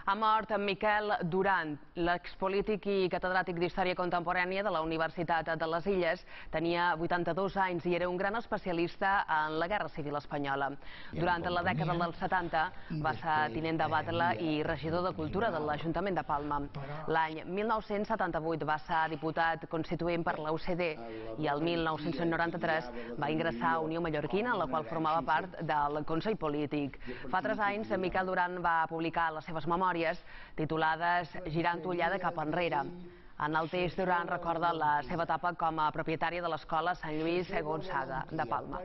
Ha mort Miquel Duran, l'expolític i catedràtic d'Història Contemporània de la Universitat de les Illes. Tenia 82 anys i era un gran especialista en la Guerra Civil Espanyola. Durant la dècada dels 70 va ser tinent de batlle i regidor de Cultura de l'Ajuntament de Palma. L'any 1978 va ser diputat constituent per la UCD i el 1993 va ingressar a Unió Mallorquina, en la qual formava part del Consell Polític. Fa 3 anys, Miquel Duran va publicar les seves memòries titulades Girant ullada cap enrere. En el text, Duran recorda la seva etapa com a propietària de l'escola Sant Lluís Gonçaga de Palma.